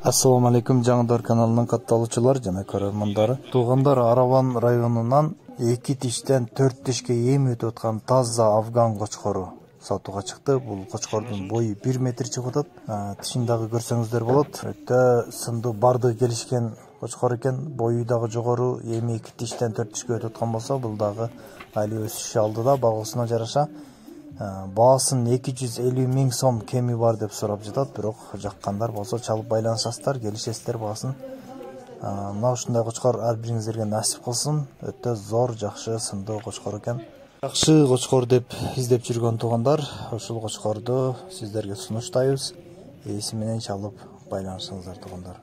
Assalomu alaykum, Жаңыдар каналынын катталуучулары жана көрөрмандары. Туугандар, Араван районунан 2 тиштен 4 тишке эми өтүп аткан таза афган кочкору сатууга чыкты. Бул кочкордун бою 1 метр чыгып атат. Тишин дагы көрсөңүздөр болот. Өтө сындуу бардыгы келишкен кочкор экен. Бою дагы жогору, эми 2 тиштен 4 тишке өтүп аткан болсо, бул дагы али өсүш алдыда багуусуна жараша. Баасын 250 миң сом кеми бар деп сурап жатат, бирок жаккандар болсо чалып байланышасыздар, келишесиздер баасын. Мына ушундай кочкор ар бириңиздерге насип кылсын. Өтө зор, жакшы, сындуу кочкор экен. Жакшы кочкор деп издеп жүргөн туугандар, ушул кочкорду сиздерге сунуштайбыз. Ээси менен чалып байланышыңыздар туугандар.